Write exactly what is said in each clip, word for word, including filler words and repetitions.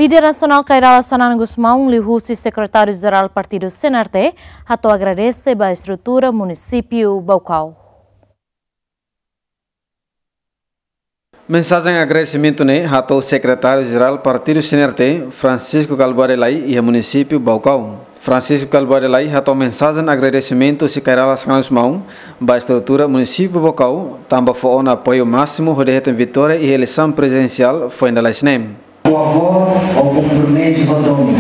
Líder nasionál Kay Rala Xanana Gusmão liuhusi Sekretáriu Jerál Partidu C N R T hato'o agradese ba estrutura munisípiu Baucau. Mensajen agradesimentu ne'e hato'o Sekretáriu Jerál Partidu C N R T, Francisco Kalbuadi Lay, iha munisípiu Baucau. Francisco Kalbuadi Lay hato'o mensajen agradesimentu husi Kay Rala Xanana Gusmão ba estrutura munisípiu Baucau, tanba fó ona apoiu másimu hodi hetan vitória iha eleisaun prezidensiál foin dala ida ne'e. O amor, o compromisso ho domi,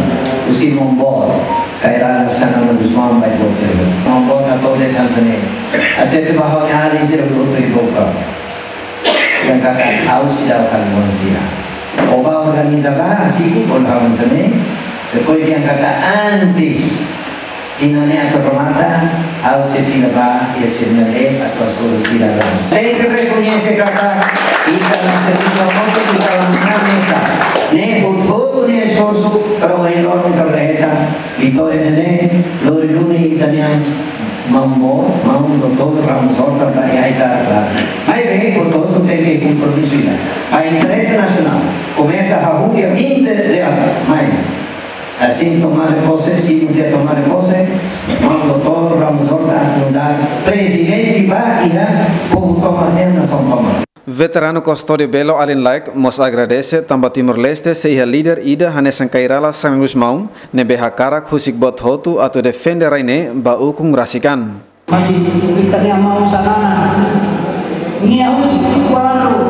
husi maun boot Kay Rala Xanana Gusmão ba ita-boot sira. Maun boot hato'o dehan hanesan ne'e: hatete ba ha'u-nia alin sira hotu iha Baucau, dehan katak ha'u seidauk halo buat sira. O bá organiza bá, siku, o la hanesan ne'e. Depois dehan katak antes tinan ne'e atu remata, ha'u sei fila bá iha sira-nia leet atu hasoru sira laran. Tenke rekoñese katak ita la servisu hamutuk, ita la manán mesak. Ne'e hotu-hotu nia esforsu para ohin loron ita bele hetan vitória ne'e, lori duni ita-nia maun boot, maun doutór Ramos Horta ba iha ita laran. Maibé hotu-hotu tenke kompromisu ida. Ba interese nasionál, komesa hahú dia vinte de abril, mai. Hanesan tomada de pose, simu tiha tomada de pose, maun doutór Ramos Horta nu'udar prezidente ba iha povu tomak nian, nasaun tomak. Veteranu Custódio Belo alin laek mós agradese tanba Timor-Leste sei iha líder ida hanesan Kay Rala Xanana Gusmão, ne'ebé hakarak husik boot hotu atu defende rai ne'e ba ukun rasik an. Mas ita-nia maun Xanana, nia husi kuandu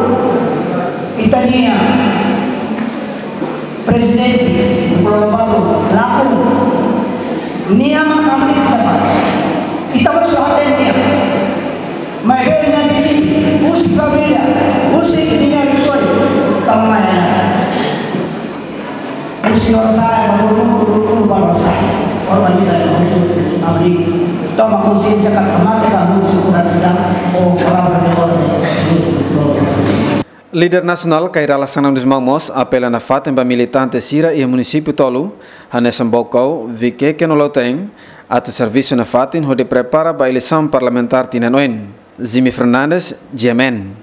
ita-nia prezidente Nicolau Lobato lakon, nia mak hamriik ita fali. Ita mós la hatene nia. Maibé nia disi, husi família, husi nia risoin, tama mai. Husi orsai, ba guru, guru, guru, ba orsai. Organiza, abri. Toma konsiénsia katak mate ka husi kurang sidang, o palavra de orden. Líder nasionál Kay Rala Xanana Gusmão mós apela nafatin ba militante sira iha munisípiu tolu, hanesan Baucau, Viqueque no Lautein, atu servisu nafatin hodi prepara ba eleisaun parlamentár tinan oin. Jimmy Fernandes, G M N.